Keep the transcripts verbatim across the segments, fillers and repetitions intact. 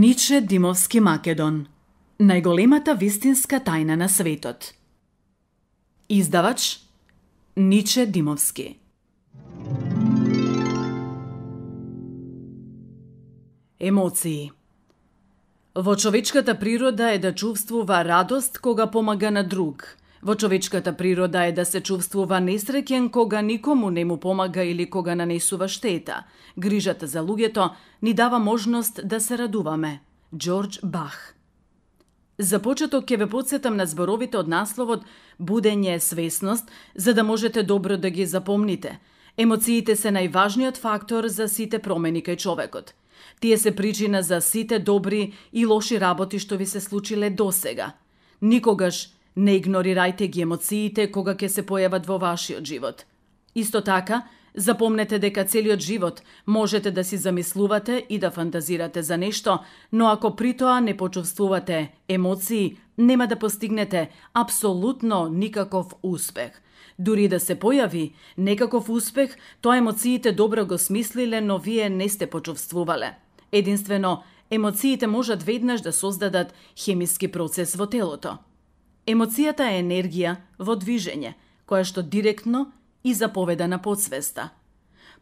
Ниче Димовски Македон. Најголемата вистинска тајна на светот. Издавач Ниче Димовски. Емоции. Во човечката природа е да чувствува радост кога помага на друг. Во човечката природа е да се чувствува несреќен кога никому не му помага или кога нанесува штета. Грижата за луѓето ни дава можност да се радуваме. Џорџ Бах. За почеток ќе ве потсетам на зборовите од насловот Будење свесност, за да можете добро да ги запомните. Емоциите се најважниот фактор за сите промени кај човекот. Тие се причина за сите добри и лоши работи што ви се случиле досега. Никогаш не игнорирајте ги емоциите кога ќе се појават во вашиот живот. Исто така, запомнете дека целиот живот можете да си замислувате и да фантазирате за нешто, но ако при тоа не почувствувате емоции, нема да постигнете апсолутно никаков успех. Дури да се појави некаков успех, тоа емоциите добро го смислиле, но вие не сте почувствувале. Единствено, емоциите можат веднаш да создадат хемиски процес во телото. Емоцијата е енергија во движење, која што директно и заповеда на подсвеста.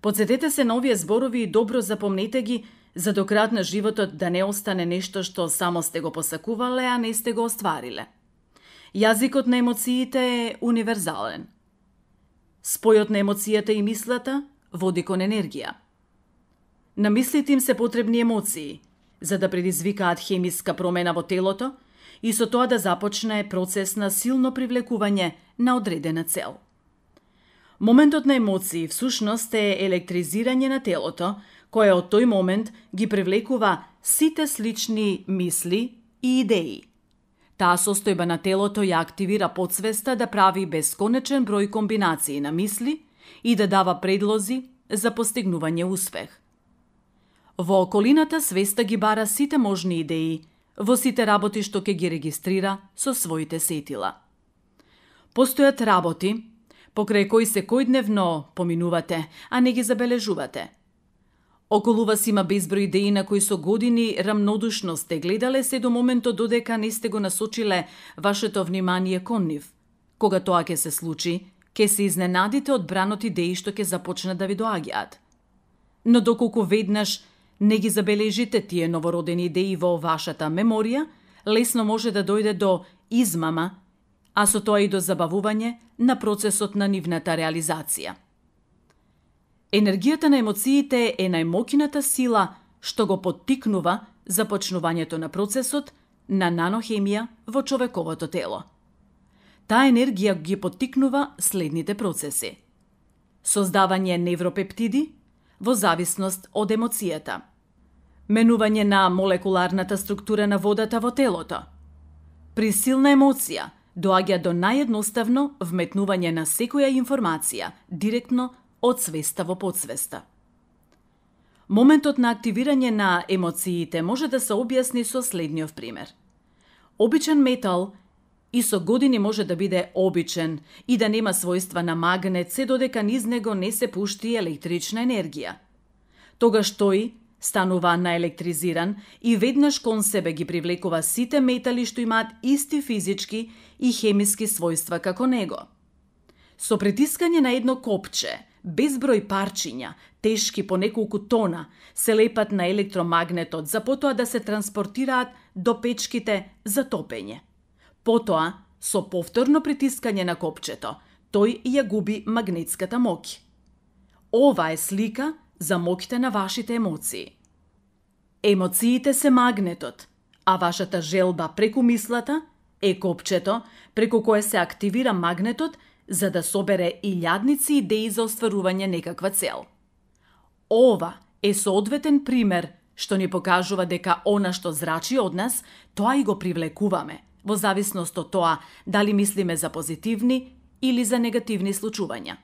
Подсетете се на овие зборови и добро запомнете ги, за до крај на животот да не остане нешто што само сте го посакувале, а не сте го оствариле. Јазикот на емоциите е универзален. Спојот на емоцијата и мислата води кон енергија. На мислите им се потребни емоции, за да предизвикаат хемиска промена во телото и со тоа да започне процес на силно привлекување на одредена цел. Моментот на емоции всушност е електризирање на телото, кое од тој момент ги привлекува сите слични мисли и идеи. Таа состојба на телото ја активира подсвеста да прави бесконечен број комбинации на мисли и да дава предлози за постигнување успех. Во околината свеста ги бара сите можни идеи, во сите работи што ќе ги регистрира со своите сетила. Постојат работи покрај кои секојдневно поминувате, а не ги забележувате. Околу вас има безброј идеи на кои со години рамнодушно сте гледале се до моментот додека не сте го насочиле вашето внимание кон нив. Кога тоа ќе се случи, ќе се изненадите од бранот идеи што ќе започнат да ви доаѓаат. Но доколку веднаш не ги забележите тие новородени идеи во вашата меморија, лесно може да дојде до измама, а со тоа и до забавување на процесот на нивната реализација. Енергијата на емоциите е најмоќната сила што го поттикнува започнувањето на процесот на нанохемија во човековото тело. Таа енергија ги поттикнува следните процеси: создавање невропептиди во зависност од емоцијата, менување на молекуларната структура на водата во телото. При силна емоција доаѓа до наједноставно вметнување на секоја информација директно од свеста во подсвеста. Моментот на активирање на емоциите може да се објасни со следниот пример. Обичен метал и со години може да биде обичен и да нема својства на магнет, се додека низ него не се пушти електрична енергија. Тогаш тој станува наелектризиран и веднаш кон себе ги привлекува сите метали што имаат исти физички и хемиски својства како него. Со притискање на едно копче, безброј парчиња, тешки по неколку тона, се лепат на електромагнетот за потоа да се транспортираат до печките за топење. Потоа, со повторно притискање на копчето, тој ја губи магнетската моќ. Ова е слика за моќта на вашите емоции. Емоциите се магнетот, а вашата желба преку мислата е копчето преку кое се активира магнетот за да собере илјадници идеи за остварување некаква цел. Ова е соодветен пример што ни покажува дека она што зрачи од нас, тоа и го привлекуваме, во зависност од тоа дали мислиме за позитивни или за негативни случувања.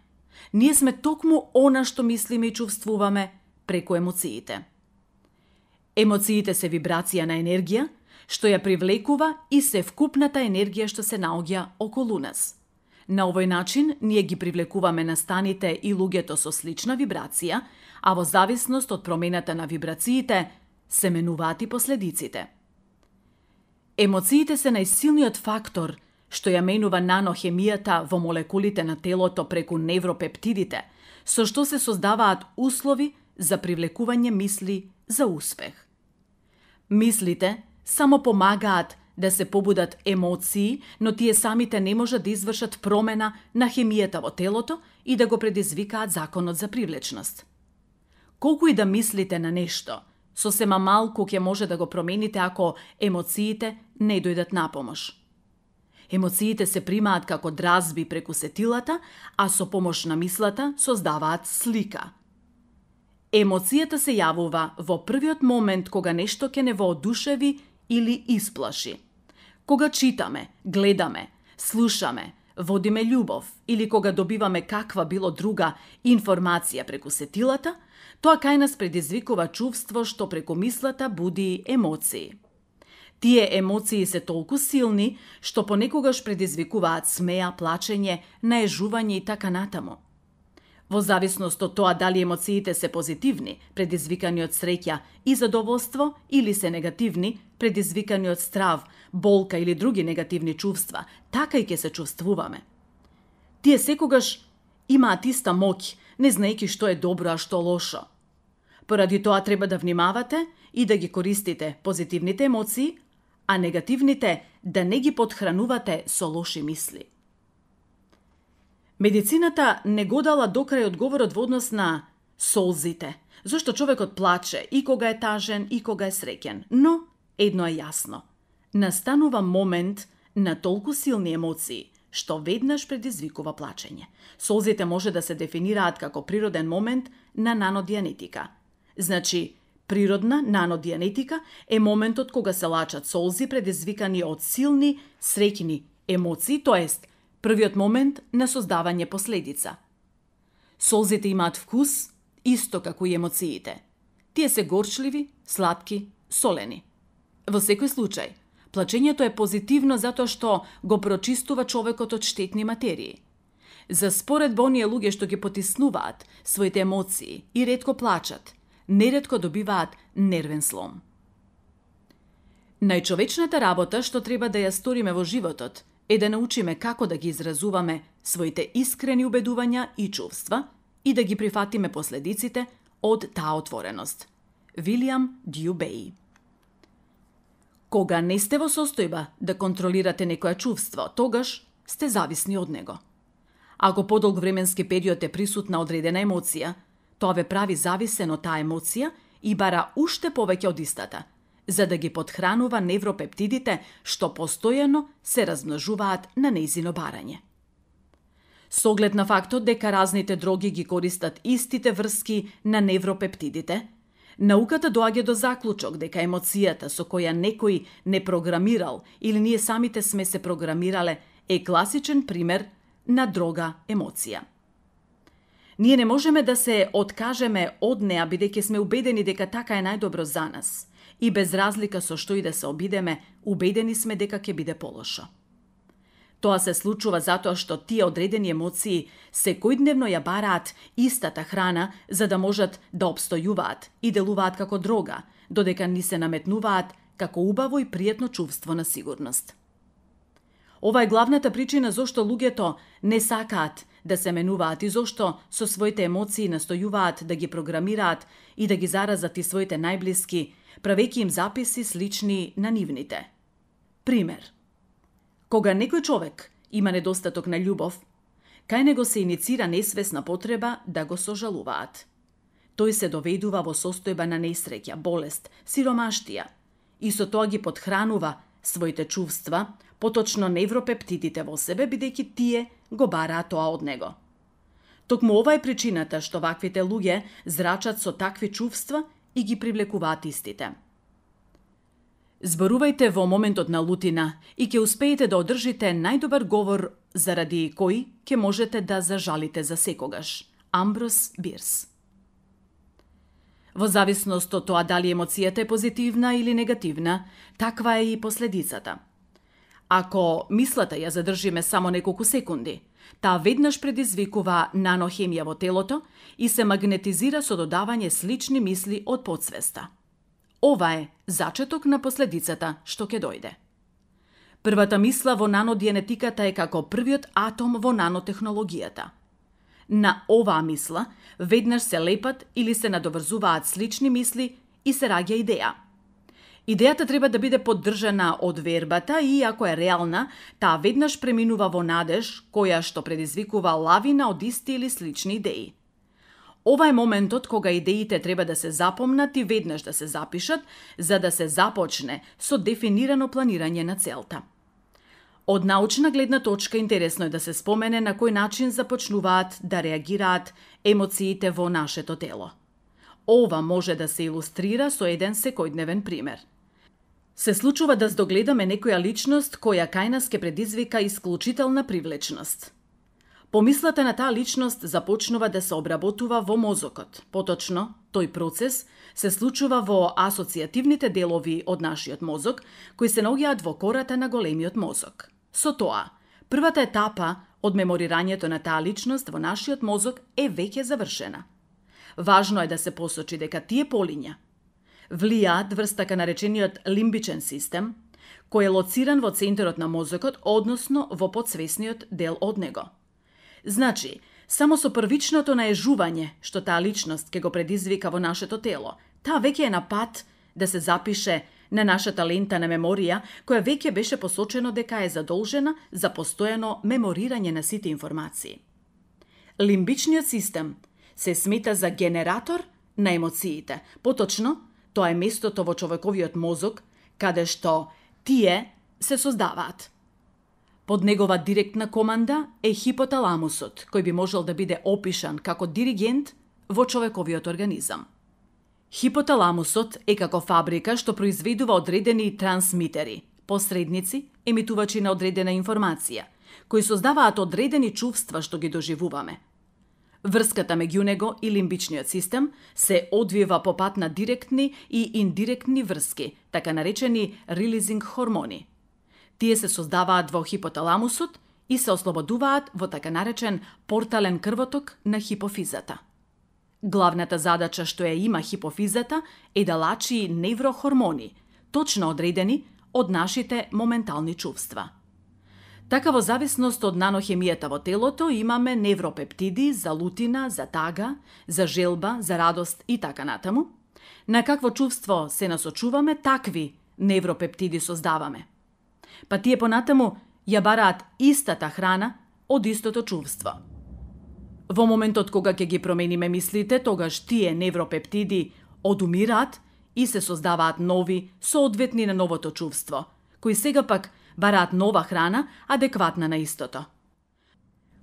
Ние сме токму она што мислиме и чувствуваме преку емоциите. Емоциите се вибрација на енергија, што ја привлекува и се вкупната енергија што се наоѓа околу нас. На овој начин ние ги привлекуваме настаните и луѓето со слична вибрација, а во зависност од промената на вибрациите, се менуваат и последиците. Емоциите се најсилниот фактор што ја менува нанохемијата во молекулите на телото преку невропептидите, со што се создаваат услови за привлекување мисли за успех. Мислите само помагаат да се побудат емоции, но тие самите не можат да извршат промена на хемијата во телото и да го предизвикаат законот за привлечност. Колку и да мислите на нешто, сосема малку ќе може да го промените ако емоциите не дојдат на помош. Емоциите се примаат како дразби преку сетилата, а со помош на мислата создаваат слика. Емоцијата се јавува во првиот момент кога нешто ќе не воодушеви или исплаши. Кога читаме, гледаме, слушаме, водиме љубов или кога добиваме каква било друга информација преку сетилата, тоа кај нас предизвикува чувство што преку мислата буди емоции. Тие емоции се толку силни што понекогаш предизвикуваат смеа, плачење, наежување и така натаму. Во зависност од тоа дали емоциите се позитивни, предизвикани од среќа и задоволство, или се негативни, предизвикани од страв, болка или други негативни чувства, така и ќе се чувствуваме. Тие секогаш имаат иста моќ, не знаејќи што е добро, а што лошо. Поради тоа треба да внимавате и да ги користите позитивните емоции, а негативните да не ги подхранувате со лоши мисли. Медицината не го дала докрај одговорот во однос на солзите, зашто човекот плаче и кога е тажен и кога е среќен. Но едно е јасно. Настанува момент на толку силни емоции, што веднаш предизвикува плачење. Солзите може да се дефинираат како природен момент на нанодианетика. Значи, природна нанодианетика е моментот кога се лачат солзи предизвикани од силни среќни емоции, тоест првиот момент на создавање последица. Солзите имаат вкус, исто како и емоциите. Тие се горчливи, сладки, солени. Во секој случај, плачењето е позитивно затоа што го прочистува човекот од штетни материи. За споредба оние луѓе што ги потиснуваат своите емоции и ретко плачат, неретко добиваат нервен слом. Најчовечната работа што треба да ја сториме во животот е да научиме како да ги изразуваме своите искрени убедувања и чувства и да ги прифатиме последиците од таа отвореност. Вилијам Дју Беј. Кога не сте во состојба да контролирате некое чувство, тогаш сте зависни од него. Ако подолг временски период е присутна одредена емоција, тоа ве прави зависен од таа емоција и бара уште повеќе од истата, за да ги подхранува невропептидите што постојано се размножуваат на нејзино барање. Со оглед на фактот дека разните дроги ги користат истите врски на невропептидите, науката доаѓа до заклучок дека емоцијата со која некој не програмирал или ние самите сме се програмирале е класичен пример на дрога емоција. Ние не можеме да се откажеме од неа бидејќи сме убедени дека така е најдобро за нас и без разлика со што и да се обидеме, убедени сме дека ќе биде полошо. Тоа се случува затоа што тие одредени емоции секојдневно ја бараат истата храна за да можат да обстојуваат и делуваат како дрога, додека ни се наметнуваат како убаво и пријатно чувство на сигурност. Ова е главната причина зошто луѓето не сакаат да се менуваат и зошто со своите емоции настојуваат да ги програмираат и да ги заразат и своите најблиски, правејќи им записи слични на нивните. Пример. Кога некој човек има недостаток на љубов, кај него се иницира несвесна потреба да го сожалуваат. Тој се доведува во состојба на несреќа, болест, сиромаштија и со тоа ги подхранува своите чувства, поточно невропептидите во себе, бидејќи тие го бараат тоа од него. Токму ова е причината што ваквите луѓе зрачат со такви чувства и ги привлекуваат истите. Зборувајте во моментот на лутина и ќе успеете да одржите најдобар говор заради кој ќе можете да зажалите за секогаш. Амброс Бирс. Во зависност од тоа дали емоцијата е позитивна или негативна, таква е и последицата. Ако мислата ја задржиме само неколку секунди, таа веднаш предизвикува нанохемија во телото и се магнетизира со додавање слични мисли од подсвеста. Ова е зачеток на последицата што ќе дојде. Првата мисла во наногенетиката е како првиот атом во нанотехнологијата. На оваа мисла веднаш се лепат или се надоврзуваат слични мисли и се раѓа идеја. Идејата треба да биде поддржана од вербата и, ако е реална, таа веднаш преминува во надеж, која што предизвикува лавина од исти или слични идеи. Ова е моментот кога идеите треба да се запомнат и веднаш да се запишат, за да се започне со дефинирано планирање на целта. Од научна гледна точка интересно е да се спомене на кој начин започнуваат да реагираат емоциите во нашето тело. Ова може да се илустрира со еден секојдневен пример. Се случува да здогледаме некоја личност која кај нас ке предизвика исклучителна привлечност. Помислата на таа личност започнува да се обработува во мозокот. Поточно, тој процес се случува во асоцијативните делови од нашиот мозок, кои се наоѓаат во кората на големиот мозок. Со тоа, првата етапа од меморирањето на таа личност во нашиот мозок е веќе завршена. Важно е да се посочи дека тие полиња влијаат врз така наречениот лимбичен систем, кој е лоциран во центарот на мозокот, односно во подсвесниот дел од него. Значи, само со првичното наежување што таа личност ќе го предизвика во нашето тело, таа веќе е на пат да се запише на нашата лента на меморија, која веќе беше посочено дека е задолжена за постојано меморирање на сите информации. Лимбичниот систем се смета за генератор на емоциите. Поточно, тоа е местото во човековиот мозок каде што тие се создаваат. Под негова директна команда е хипоталамусот, кој би можел да биде опишан како диригент во човековиот организам. Хипоталамусот е како фабрика што произведува одредени трансмитери, посредници, емитувачи на одредена информација, кои создаваат одредени чувства што ги доживуваме. Врската меѓу него и лимбичниот систем се одвива по пат на директни и индиректни врски, така наречени релизинг хормони. Тие се создаваат во хипоталамусот и се ослободуваат во така наречен портален крвоток на хипофизата. Главната задача што ја има хипофизата е да лачи неврохормони, точно одредени од нашите моментални чувства. Така во зависност од нанохемијата во телото имаме невропептиди за лутина, за тага, за желба, за радост и така натаму. На какво чувство се насочуваме, такви невропептиди создаваме. Па тие понатаму ја бараат истата храна од истото чувство. Во моментот кога ќе ги промениме мислите, тогаш тие невропептиди одумираат и се создаваат нови, соодветни на новото чувство, кои сега пак бараат нова храна, адекватна на истото.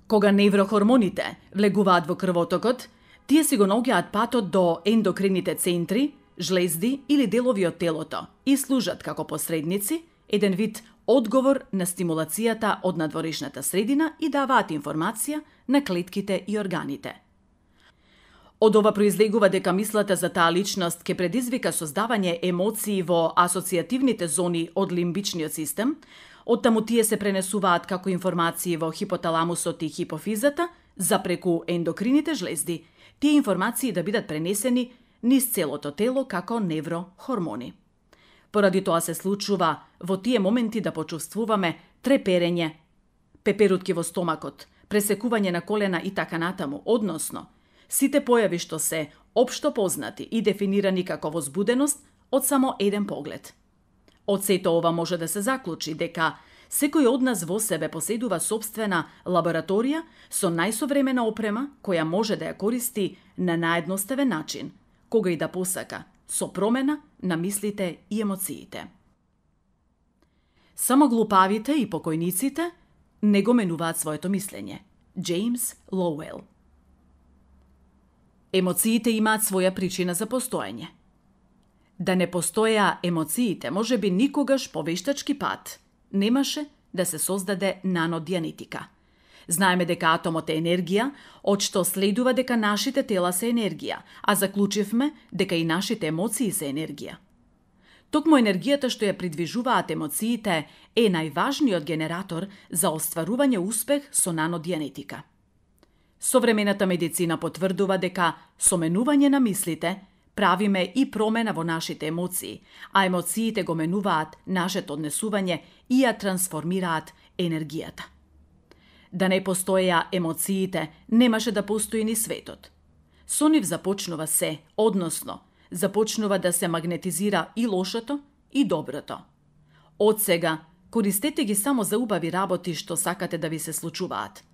Кога неврохормоните влегуваат во крвотокот, тие си го наоѓаат патот до ендокрините центри, жлезди или делови од телото и служат како посредници, еден вид одговор на стимулацијата од надворешната средина и даваат информација на клетките и органите. Од ова произлегува дека мислата за таа личност ќе предизвика создавање емоции во асоцијативните зони од лимбичниот систем, оттаму тие се пренесуваат како информации во хипоталамусот и хипофизата, запреку ендокрините жлезди, тие информации да бидат пренесени низ целото тело како неврохормони. Поради тоа се случува во тие моменти да почувствуваме треперење, пеперутки во стомакот, пресекување на колена и така натаму, односно, сите појави што се општо познати и дефинирани како возбуденост од само еден поглед. Од сето ова може да се заклучи дека секој од нас во себе поседува собствена лабораторија со најсовремена опрема која може да ја користи на наедноставен начин, кога и да посака, со промена на мислите и емоциите. Само глупавите и покојниците не го менуваат своето мислење. Джеймс Лоуел. Емоциите имаат своја причина за постоење. Да не постоја емоциите, може би никогаш по вештачки пат немаше да се создаде наногенетика. Знаеме дека атомот е енергија, од што следува дека нашите тела се енергија, а заклучивме дека и нашите емоции се енергија. Токму енергијата што ја придвижуваат емоциите е најважниот генератор за остварување успех со наногенетика. Современата медицина потврдува дека со менување на мислите, правиме и промена во нашите емоции, а емоциите го менуваат нашето однесување и ја трансформираат енергијата. Да не постоеја емоциите, немаше да постои ни светот. Со нив започнува се, односно, започнува да се магнетизира и лошото, и доброто. Од сега, користете ги само за убави работи што сакате да ви се случуваат.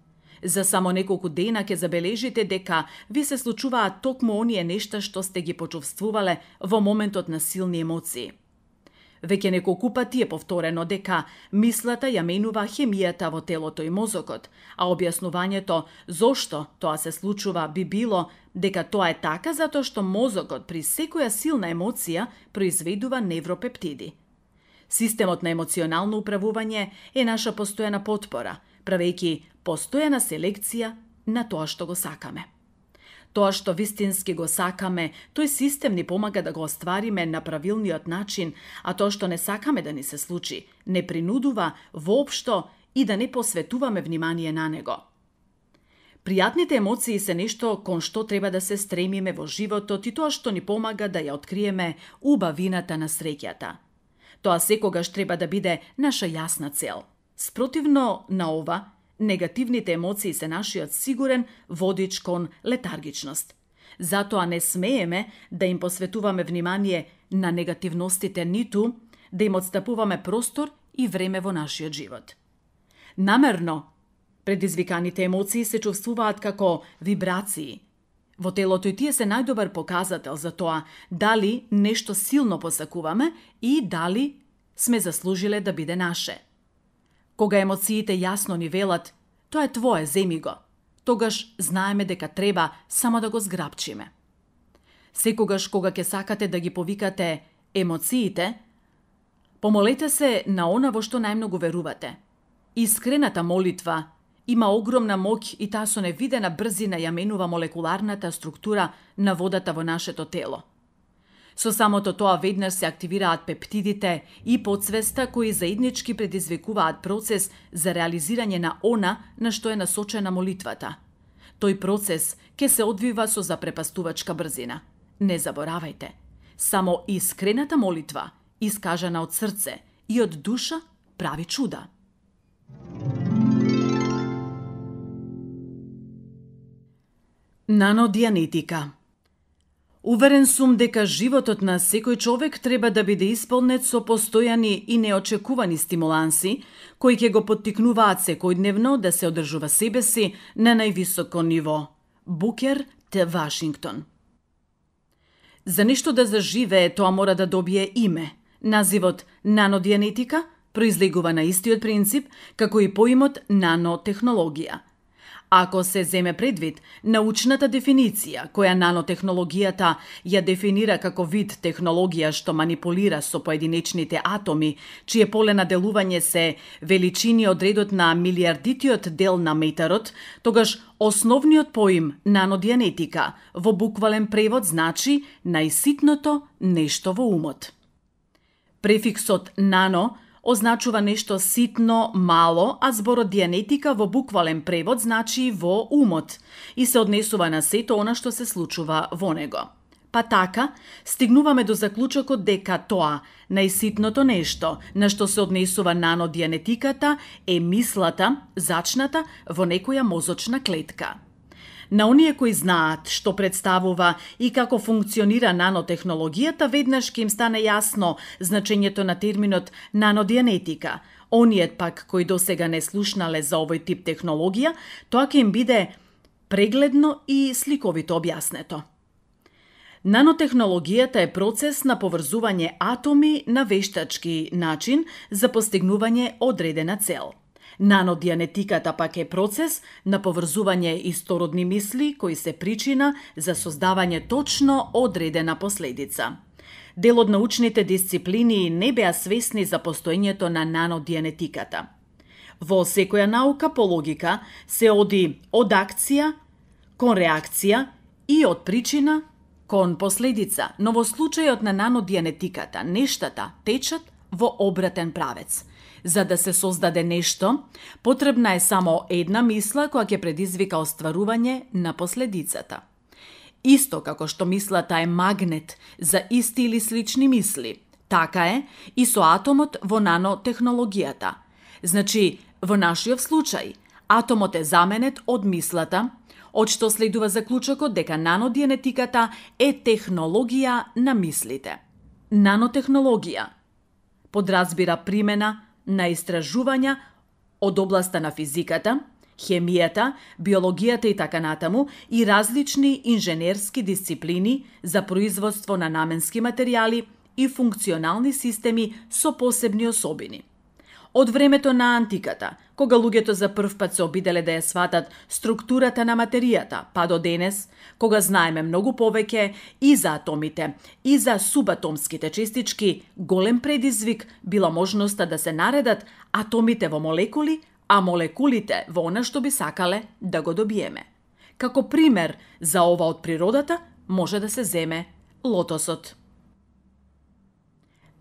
За само неколку дена ќе забележите дека ви се случуваат токму оние нешта што сте ги почувствувале во моментот на силни емоции. Веќе неколку пати е повторено дека мислата ја менува хемијата во телото и мозокот, а објаснувањето зошто тоа се случува би било дека тоа е така затоа што мозокот при секоја силна емоција произведува невропептиди. Системот на емоционално управување е наша постојана потпора, правејќи постојана селекција на тоа што го сакаме. Тоа што вистински го сакаме, тој систем ни помага да го оствариме на правилниот начин, а тоа што не сакаме да ни се случи, не принудува воопшто и да не посветуваме внимание на него. Пријатните емоции се нешто кон што треба да се стремиме во животот и тоа што ни помага да ја откриеме убавината на среќата. Тоа секогаш треба да биде наша јасна цел. Спротивно на ова, негативните емоции се нашиот сигурен водич кон летаргичност. Затоа не смееме да им посветуваме внимание на негативностите, ниту да им отстапуваме простор и време во нашиот живот. Намерно, предизвиканите емоции се чувствуваат како вибрации. Во телото и тие се најдобар показател за тоа дали нешто силно посакуваме и дали сме заслужиле да биде наше. Кога емоциите јасно ни велат, тоа е твое, земи го, тогаш знаеме дека треба само да го зграбчиме. Секогаш кога ќе сакате да ги повикате емоциите, помолете се на она во што најмногу верувате. Искрената молитва има огромна моќ и таа со невидена брзина ја менува молекуларната структура на водата во нашето тело. Со самото тоа веднаш се активираат пептидите и подсвеста кои заеднички предизвикуваат процес за реализирање на она на што е насочена молитвата. Тој процес ќе се одвива со запрепастувачка брзина. Не заборавајте, само искрената молитва, искажана од срце и од душа, прави чуда. Нанодианетика. Уверен сум дека животот на секој човек треба да биде исполнет со постојани и неочекувани стимуланси, кои ќе го поттикнуваат секојдневно да се одржува себе си на највисоко ниво. Букер Т. Вашингтон. За нешто да заживее, тоа мора да добие име. Називот нанодианетика произлегува на истиот принцип како и поимот нанотехнологија. Ако се земе предвид научната дефиниција, која нанотехнологијата ја дефинира како вид технологија што манипулира со поединечните атоми, чие поле на делување се величини од редот на милиардитиот дел на метарот, тогаш основниот поим нанодианетика во буквален превод значи најситното нешто во умот. Префиксот нано означува нешто ситно, мало, а зборот дианетика во буквален превод значи во умот и се однесува на сето она што се случува во него. Па така, стигнуваме до заклучокот дека тоа, најситното нешто, на што се однесува нанодианетиката, е мислата, зачната во некоја мозочна клетка. На оние кои знаат што представува и како функционира нанотехнологијата, веднаш ќе им стане јасно значењето на терминот нанодианетика. Оние пак кои досега не слушнале за овој тип технологија, тоа ќе им биде прегледно и сликовито објаснето. Нанотехнологијата е процес на поврзување атоми на вештачки начин за постигнување одредена цел. Нанодианетиката пак е процес на поврзување истородни мисли кои се причина за создавање точно одредена последица. Дел од научните дисциплини не беа свесни за постоењето на нанодианетиката. Во секоја наука по логика се оди од акција кон реакција и од причина кон последица, но во случајот на нанодианетиката нештата течат во обратен правец. За да се создаде нешто, потребна е само една мисла која ќе предизвика остварување на последицата. Исто како што мислата е магнет за исти или слични мисли, така е и со атомот во нанотехнологијата. Значи, во нашиот случај, атомот е заменет од мислата, од што следува заклучокот дека нанодиенетиката е технологија на мислите. Нанотехнологија подразбира примена на истражувања од областа на физиката, хемијата, биологијата и така натаму и различни инженерски дисциплини за производство на наменски материјали и функционални системи со посебни особини. Од времето на антиката, кога луѓето за прв пат се обиделе да ја сватат структурата на материјата, па до денес, кога знаеме многу повеќе и за атомите, и за субатомските честички, голем предизвик била можноста да се наредат атомите во молекули, а молекулите во она што би сакале да го добиеме. Како пример за ова од природата може да се земе лотосот.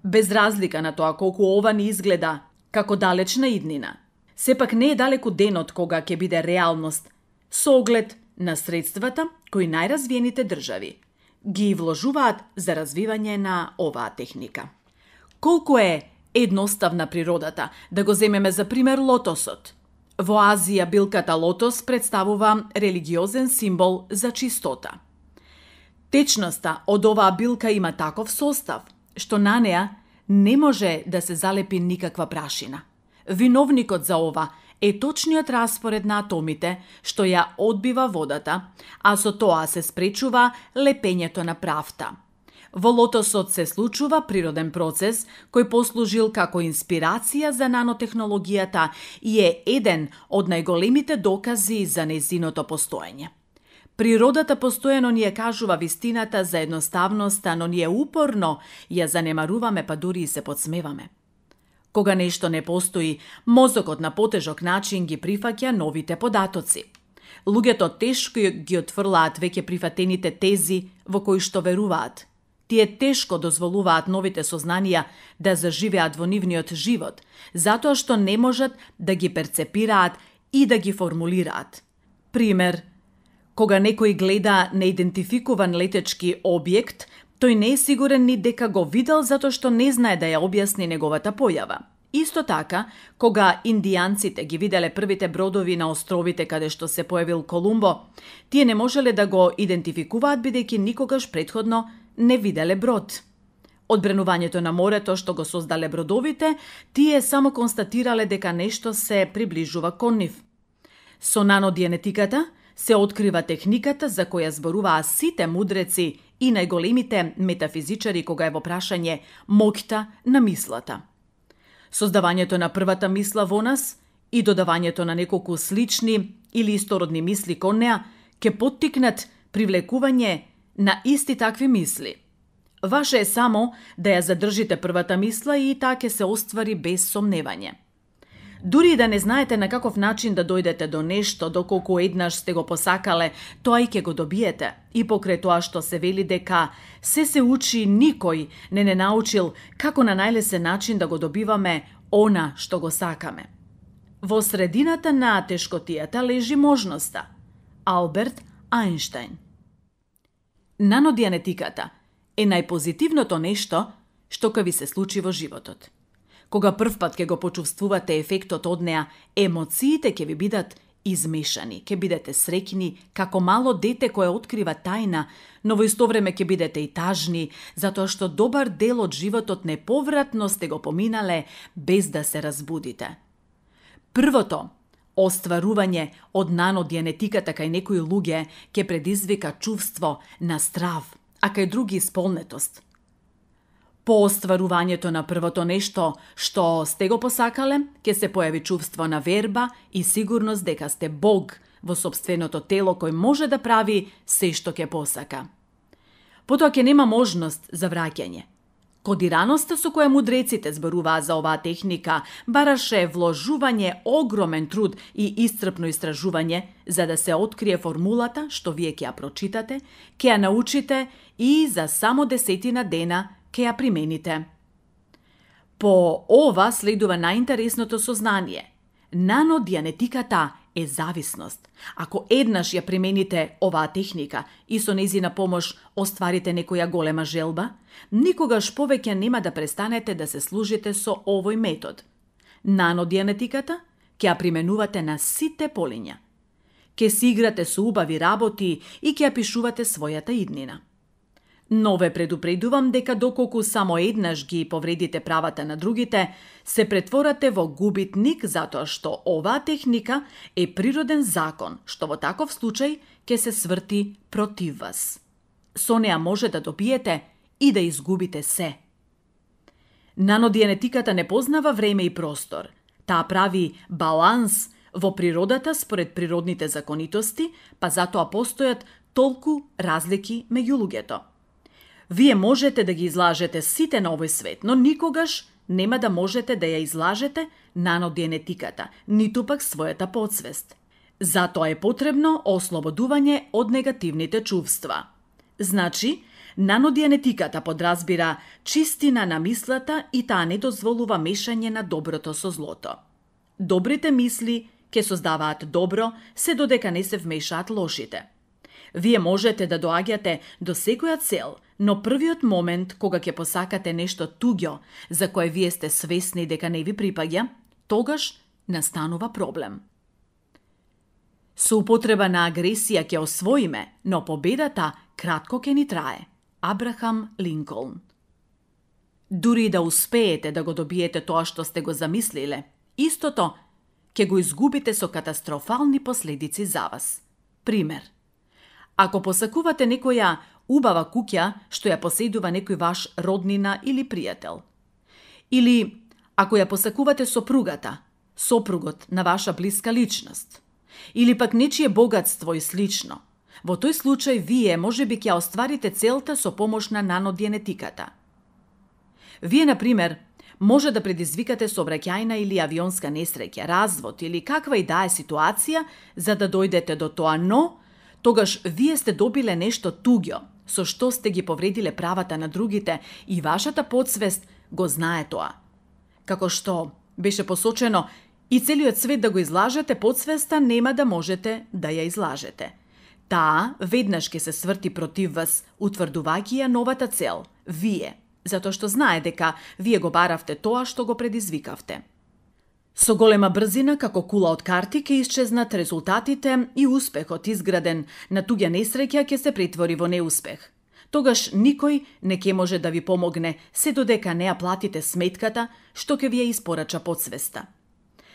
Без разлика на тоа колку ова ни изгледа како далечна иднина, сепак не е далеку денот кога ќе биде реалност, со оглед на средствата кои најразвиените држави ги вложуваат за развивање на оваа техника. Колку е едноставна природата, да го земеме за пример лотосот. Во Азија билката лотос представува религиозен символ за чистота. Течноста од оваа билка има таков состав, што на неа не може да се залепи никаква прашина. Виновникот за ова е точниот распоред на атомите што ја одбива водата, а со тоа се спречува лепењето на правта. Во лотосот се случува природен процес кој послужил како инспирација за нанотехнологијата и е еден од најголемите докази за нејзиното постоење. Природата постојано ни ја кажува вистината за едноставноста, но ние упорно ја занемаруваме, па дури и се подсмеваме. Кога нешто не постои, мозокот на потежок начин ги прифаќа новите податоци. Луѓето тешко ги отфрлаат веќе прифатените тези во кои што веруваат. Тие тешко дозволуваат новите сознанија да заживеат во нивниот живот, затоа што не можат да ги перцепираат и да ги формулираат. Пример, кога некој гледа неидентификуван летечки објект, тој не е сигурен ни дека го видел затоа што не знае да ја објасни неговата појава. Исто така, кога индијанците ги виделе првите бродови на островите каде што се појавил Колумбо, тие не можеле да го идентификуваат бидејќи никогаш претходно не виделе брод. Одбренувањето на морето што го создале бродовите, тие само констатирале дека нешто се приближува кон нив. Со нанодиенетиката се открива техниката за која зборуваа сите мудреци и најголемите метафизичари кога е во прашање моќта на мислата. Создавањето на првата мисла во нас и додавањето на неколку слични или истородни мисли кон неа ќе поттикнат привлекување на исти такви мисли. Ваше е само да ја задржите првата мисла и таа ќе се оствари без сомневање. Дури и да не знаете на каков начин да дојдете до нешто, доколку еднаш сте го посакале, тоа и ќе го добиете. И покрај тоа што се вели дека се се учи, никој не не научил како на најлесен начин да го добиваме она што го сакаме. Во средината на тешкотијата лежи можноста. Алберт Ајнштајн. Нанодиенетиката е најпозитивното нешто што ќе ви се случи во животот. Кога првпат ќе го почувствувате ефектот од неа, емоциите ќе ви бидат измешани, ќе бидете среќни како мало дете кое открива тајна, но во исто време ќе бидете и тажни, затоа што добар дел од животот неповратно сте го поминале без да се разбудите. Првото остварување од нанодиенетиката кај некои луѓе ќе предизвика чувство на страв, а кај други исполнетост. По остварувањето на првото нешто што сте го посакале, ќе се појави чувство на верба и сигурност дека сте Бог во сопственото тело кој може да прави се што ќе посака. Потоа ќе нема можност за враќање. Кодираноста со која мудреците зборуваа за оваа техника бараше вложување огромен труд и исцрпно истражување за да се открие формулата што вие ќе ја прочитате, ќе ја научите и за само десетина дена ќе ја примените. По ова следува најинтересното сознание. Нанодиенетиката е зависност. Ако еднаш ја примените оваа техника и со нејзина помош остварите некоја голема желба, никогаш повеќе нема да престанете да се служите со овој метод. Нанодианетиката ќе ја применувате на сите полиња. Ке си играте со убави работи и ќе ја пишувате својата иднина. Но ве предупредувам дека доколку само еднаш ги повредите правата на другите, се претворате во губитник затоа што оваа техника е природен закон, што во таков случај ќе се сврти против вас. Со неа може да добиете и да изгубите се. Нанодианетиката не познава време и простор. Таа прави баланс во природата според природните законитости, па затоа постојат толку разлики меѓу луѓето. Вие можете да ги излажете сите на овој свет, но никогаш нема да можете да ја излажете нанодианетиката, ниту пак својата подсвест. Затоа е потребно ослободување од негативните чувства. Значи, нанодианетиката подразбира чистина на мислата и таа не дозволува мешање на доброто со злото. Добрите мисли ќе создаваат добро, се додека не се вмешаат лошите. Вие можете да доаѓате до секоја цел, но првиот момент кога ќе посакате нешто туѓо, за кое вие сте свесни дека не ви припаѓа, тогаш настанува проблем. Со употреба на агресија ќе освоиме, но победата кратко ќе ни трае. Абрахам Линколн. Дури да успеете да го добиете тоа што сте го замислиле, истото ќе го изгубите со катастрофални последици за вас. Пример. Ако посакувате некоја убава куќа што ја поседува некој ваш роднина или пријател, или ако ја посакувате сопругата, сопругот на ваша блиска личност, или пак нечие богатство и слично, во тој случај вие можеби ќе остварите целта со помош на нанодианетиката. Вие, на пример, може да предизвикате сообраќајна или авионска несреќа, развод или каква и да е ситуација за да дојдете до тоа, но тогаш вие сте добиле нешто туѓо, со што сте ги повредиле правата на другите и вашата подсвест го знае тоа. Како што беше посочено, и целиот свет да го излажете, подсвеста нема да можете да ја излажете. Таа веднаш ќе се сврти против вас, утврдувајќи ја новата цел, вие, затоа што знае дека вие го баравте тоа што го предизвикавте. Со голема брзина, како кула од карти, ќе исчезнат резултатите и успехот изграден на туѓа несреќа ќе се претвори во неуспех. Тогаш никој не ќе може да ви помогне, се додека не ја платите сметката што ќе ви ја испорача подсвеста.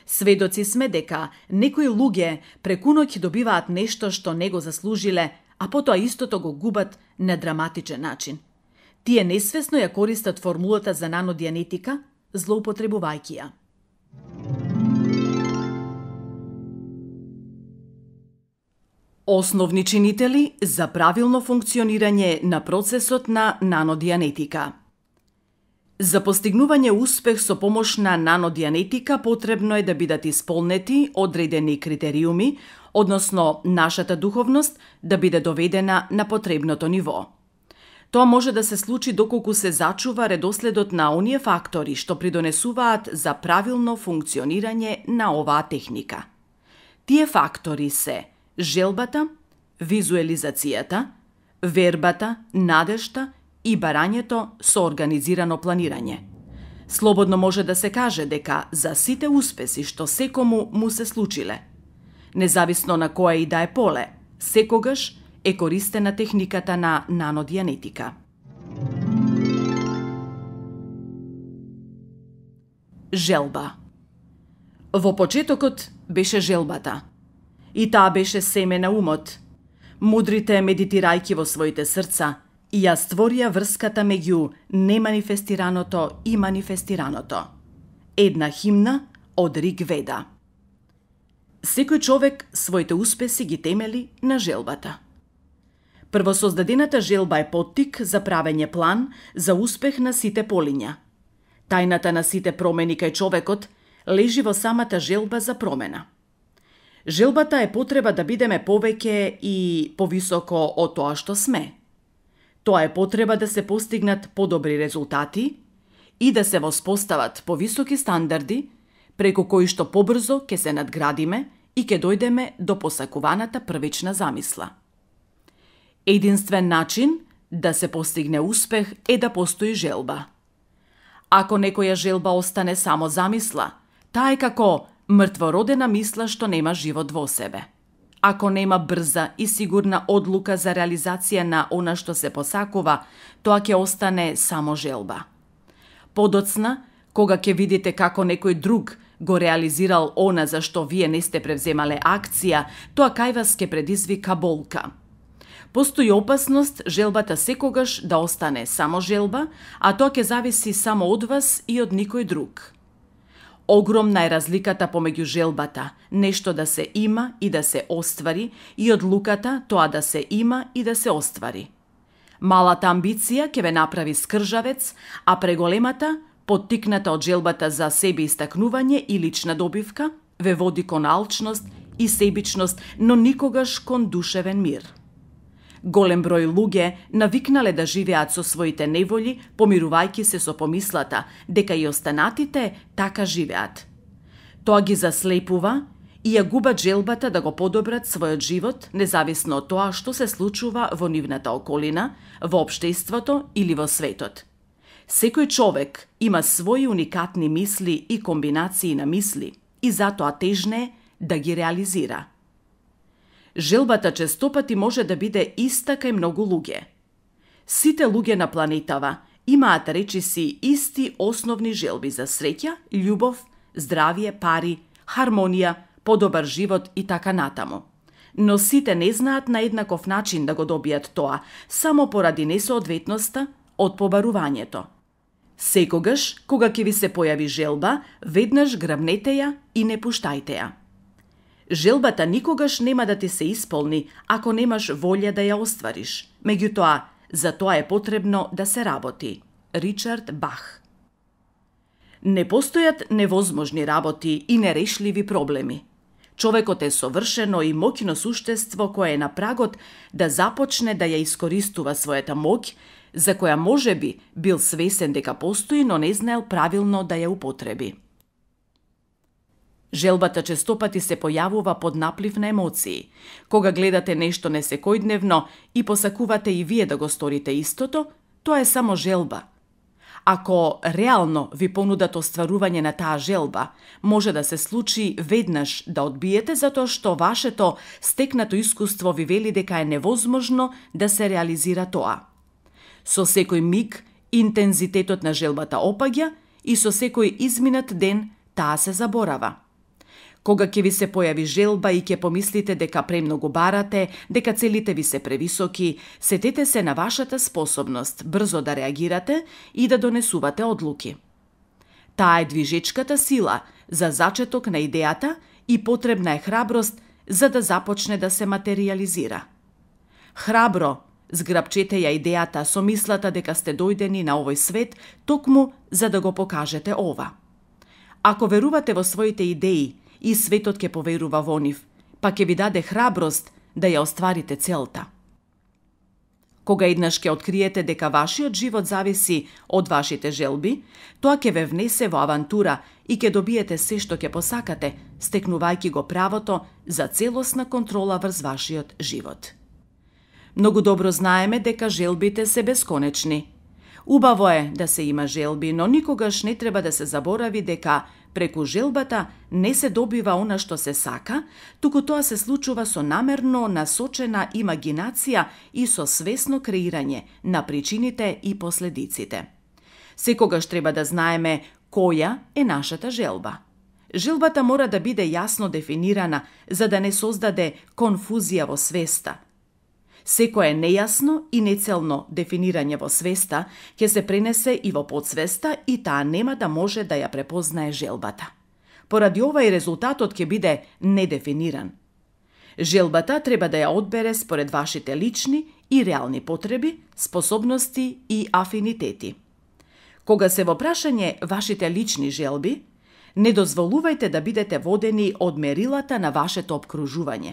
Сведоци сме дека некои луѓе преку ноќ добиваат нешто што не го заслужиле, а потоа истото го губат на драматичен начин. Тие несвесно ја користат формулата за нанодианетика, злоупотребувајќи ја. Основни чинители за правилно функционирање на процесот на нанодианетика. За постигнување успех со помош на нанодианетика потребно е да бидат исполнети одредени критериуми, односно нашата духовност да биде доведена на потребното ниво. Тоа може да се случи доколку се зачува редоследот на оние фактори што придонесуваат за правилно функционирање на оваа техника. Тие фактори се желбата, визуелизацијата, вербата, надежта и барањето со организирано планирање. Слободно може да се каже дека за сите успеси што секому му се случиле, независно на кое и да е поле, секогаш е користена техниката на нанодианетика. Желба. Во почетокот беше желбата. И таа беше семе на умот. Мудрите, медитирајќи во своите срца, и ја створија врската меѓу неманифестираното и манифестираното. Една химна од Риг Веда. Секој човек своите успеси ги темели на желбата. Првосоздадената желба е поттик за правење план за успех на сите полиња. Тајната на сите промени кај човекот лежи во самата желба за промена. Желбата е потреба да бидеме повеќе и повисоко од тоа што сме. Тоа е потреба да се постигнат подобри резултати и да се воспостават повисоки стандарди, преку кои што побрзо ќе се надградиме и ќе дојдеме до посакуваната првична замисла. Единствен начин да се постигне успех е да постои желба. Ако некоја желба остане само замисла, таа е како мртвородена мисла што нема живот во себе. Ако нема брза и сигурна одлука за реализација на она што се посакува, тоа ќе остане само желба. Подоцна, кога ќе видите како некој друг го реализирал она за што вие не сте превземале акција, тоа кај вас ќе предизвика болка. Постои опасност желбата секогаш да остане само желба, а тоа ќе зависи само од вас и од никој друг. Огромна е разликата помеѓу желбата, нешто да се има и да се оствари, и одлуката тоа да се има и да се оствари. Малата амбиција ќе ве направи скржавец, а преголемата, поттикната од желбата за себе истакнување и лична добивка, ве води кон алчност и себичност, но никогаш кон душевен мир. Голем број луѓе навикнале да живеат со своите неволји, помирувајќи се со помислата дека и останатите така живеат. Тоа ги заслепува и ја губат желбата да го подобрат својот живот, независно од тоа што се случува во нивната околина, во општеството или во светот. Секој човек има своји уникатни мисли и комбинации на мисли и затоа тежне да ги реализира. Желбата честопати може да биде иста кај многу луѓе. Сите луѓе на планетава имаат речиси исти основни желби за среќа, љубов, здравје, пари, хармонија, подобар живот и така натаму. Но сите не знаат на еднаков начин да го добијат тоа, само поради несоодветноста од побарувањето. Секогаш, кога ќе ви се појави желба, веднаш грабнете ја и не пуштајте ја. Желбата никогаш нема да ти се исполни ако немаш волја да ја оствариш. Меѓутоа, за тоа е потребно да се работи. Ричард Бах. Не постојат невозможни работи и нерешливи проблеми. Човекот е совршено и моќно суштество кое е на прагот да започне да ја искористува својата моќ, за која можеби бил свесен дека постои, но не знаел правилно да ја употреби. Желбата честопати се појавува под наплив на емоции. Кога гледате нешто несекојдневно и посакувате и вие да го сторите истото, тоа е само желба. Ако реално ви понудат остварување на таа желба, може да се случи веднаш да одбиете затоа што вашето стекнато искуство ви вели дека е невозможно да се реализира тоа. Со секој миг интензитетот на желбата опаѓа и со секој изминат ден таа се заборава. Кога ќе ви се појави желба и ќе помислите дека премногу барате, дека целите ви се превисоки, сетете се на вашата способност брзо да реагирате и да донесувате одлуки. Таа е движечката сила за зачеток на идејата и потребна е храброст за да започне да се материјализира. Храбро зграбчете ја идејата со мислата дека сте дојдени на овој свет токму за да го покажете ова. Ако верувате во своите идеи, и светот ќе поверува во нив, па ќе ви даде храброст да ја остварите целта. Кога еднаш ќе откриете дека вашиот живот зависи од вашите желби, тоа ќе ве внесе во авантура и ќе добиете се што ќе посакате, стекнувајќи го правото за целосна контрола врз вашиот живот. Многу добро знаеме дека желбите се бесконечни. Убаво е да се има желби, но никогаш не треба да се заборави дека преку желбата не се добива она што се сака, туку тоа се случува со намерно насочена имагинација и со свесно креирање на причините и последиците. Секогаш треба да знаеме која е нашата желба. Желбата мора да биде јасно дефинирана за да не создаде конфузија во свеста. Секое нејасно и нецелно дефинирање во свеста ќе се пренесе и во подсвеста и таа нема да може да ја препознае желбата. Поради ова и резултатот ќе биде недефиниран. Желбата треба да ја одбере според вашите лични и реални потреби, способности и афинитети. Кога се во прашање вашите лични желби, не дозволувајте да бидете водени од мерилата на вашето обкружување.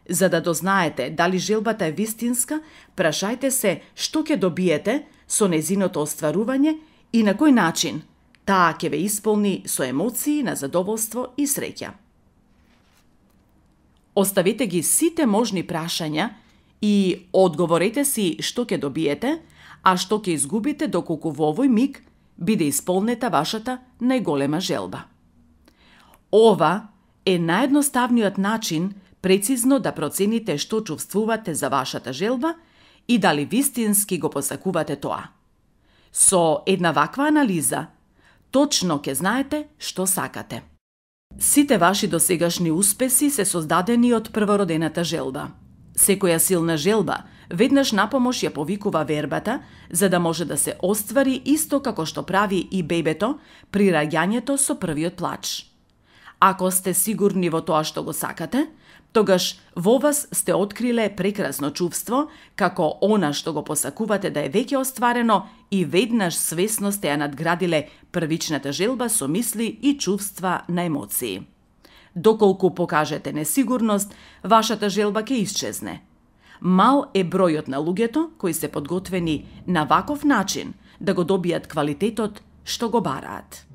За да дознаете дали желбата е вистинска, прашајте се што ќе добиете со незиното остварување и на кој начин таа ќе ве исполни со емоции на задоволство и среќа. Оставете ги сите можни прашања и одговорете си што ќе добиете, а што ќе изгубите доколку во овој миг биде исполнета вашата најголема желба. Ова е наједноставниот начин прецизно да процените што чувствувате за вашата желба и дали вистински го посакувате тоа. Со една ваква анализа, точно ќе знаете што сакате. Сите ваши досегашни успеси се создадени од првородената желба. Секоја силна желба веднаш напомош ја повикува вербата, за да може да се оствари исто како што прави и бебето при раѓањето со првиот плач. Ако сте сигурни во тоа што го сакате, тогаш во вас сте откриле прекрасно чувство, како она што го посакувате да е веќе остварено и веднаш свесно сте ја надградиле првичната желба со мисли и чувства на емоции. Доколку покажете несигурност, вашата желба ќе исчезне. Мал е бројот на луѓето кои се подготвени на ваков начин да го добијат квалитетот што го бараат.